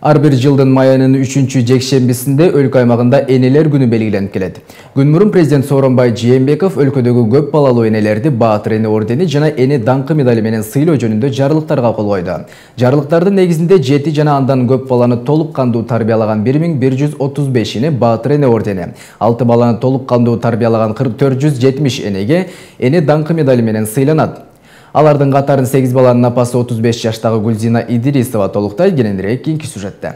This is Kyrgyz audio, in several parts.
Ар бир жылдын май айынын 3-жекшембисинде өлкө аймагында энелер күнү белгиленип келет. Күн мурун президент Сооронбай Жээнбеков өлкөдөгү көп балалуу энелерди Баатыр эне ордени жана эне даңкы медали менен сыйлоо жөнүндө жарлыктарга кол койду. Жарлыктардын негизинде 7 жана андан көп баланы толук кандуу тарбиялаган 1135-ини Баатыр эне ордени, 6 баланы толук кандуу тарбиялаган 470 энеге эне даңкы медали менен сыйланат. Алардын катарын 8 баланын апасы 35 жаштагы Гүлзина Идирисова толуктайт. Кененирээк кийинки сюжетте.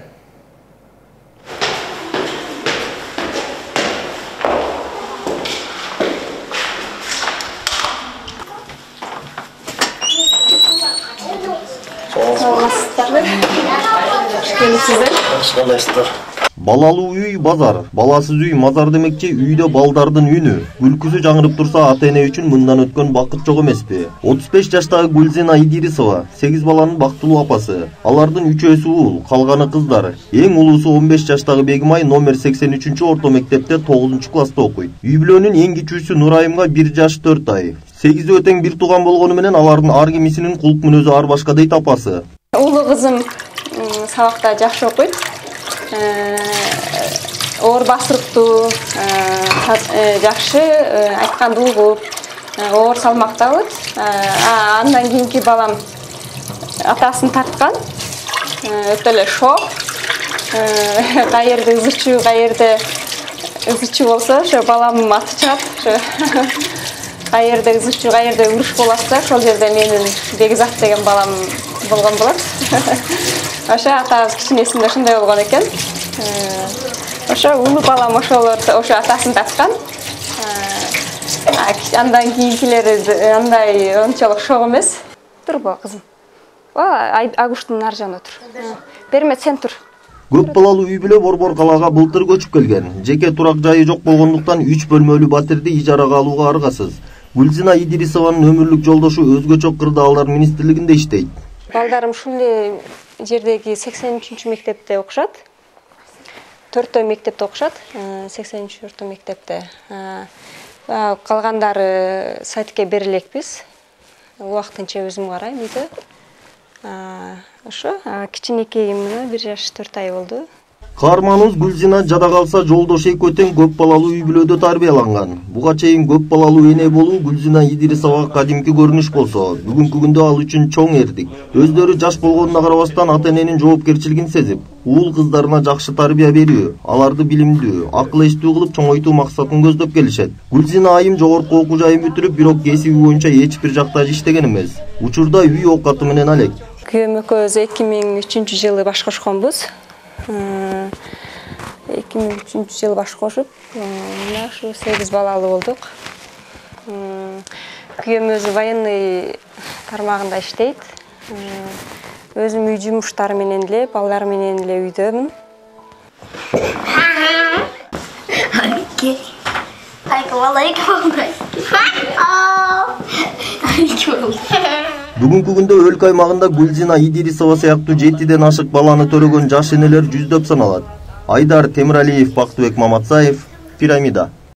Балалуу үй базар, баласыз үй мазар демекчи, үйдө балдардын үнү. Күлкүсү жаңырып турса, ата эне үчүн мындан өткөн бакыт жок эмеспи? 35 жаштагы Гүлзина Идирисова 8 баланын бактылуу апасы. Алардын 3-өсү уул, калганы кыздар. Эң улуусу 15 жаштагы Бегимай номер 83-орто мектепте 9-класста окуйт. Үй бүлөнүн эң кичүүсү Нурайымга 1 жаш 4 ай. 8 тең бир тууган болгону менен алардын ар кимисинин кулк мүнөзү ар башка дейт апасы. Улуу кызым сабакта жакшы окуйт. Оор басырыктуу, жакшы айтканды угуп, оор салмактабыт. Андан кийинки балам атасын тарткан, өтө эле шок. Каерде ызычуу болсо, ошо балам аты чыгат. Каерде ызычуу, каерде уруш болот, ошол жерде менин Бекзат деген балам болгон болот. Ошо атабыз кичинесинде ошондой болгон экен. Ошо улуу балам ошо атасын тарткан. Андан кийинкилери андай ончолук шок эмес. Турбу кызым. Агуштун ар жагында тур. Берме сен тур. Көп балалуу үй бүлө Борбор калаага былтыр көчүп келген. Жеке турак жайы жок болгондуктан 3 бөлмөлүү батирди ижарага алууга аргасыз. Гүлзина Идирисованын өмүрлүк жолдошу өзгөчө кырдаалдар министрлигинде иштейт. Балдарым ушул жердеги 83-мектепте окушат. 4 мектепте окушат, 83-орто мектепте. Калгандары сайтке берилекпиз. Убактынча өзүм карайм үйдө. Ошо кичинекейим 1 жаш 4 ай болду. Каарманыбыз Гүлзина жада калса жолдош экөө тең көп балалуу үй бүлөдө тарбияланган. Буга чейин көп балалуу эне болуу Гүлзина Идирисовага кадимки көрүнүш болсо, бүгүнкү күндө ал үчүн чоң эрдик. Өздөрү жаш болгонуна карабастан ата эненин жоопкерчилигин сезип, уул кыздарына жакшы тарбия берүү, аларды билимдүү, акыл эстүү кылып чоңойтуу максатын көздөп келишет. Гүлзина айым жогорку окуу жайын бүтүрүп, бирок кесиби боюнча эч бир жакта иштеген эмес. Учурда үй оокаты менен алек. Күйөөм экөөбүз 2003-жылы баш кошконбуз. 2003-жылы баш кошуп, мына ушу 8 балалуу болдук. Күйөөм өзү военный тармагында иштейт. Өзүм үй жумуштары менен эле, балдар менен эле үйдөмүн. Бүгүнкү күндө өлкө аймагында Гүлзина Идирисова сыяктуу 7ден ашык баланы төрөгөн жаш энелер жүздөп саналат. Айдар Темиралиев, Бактыбек Маматсаев, Пирамида.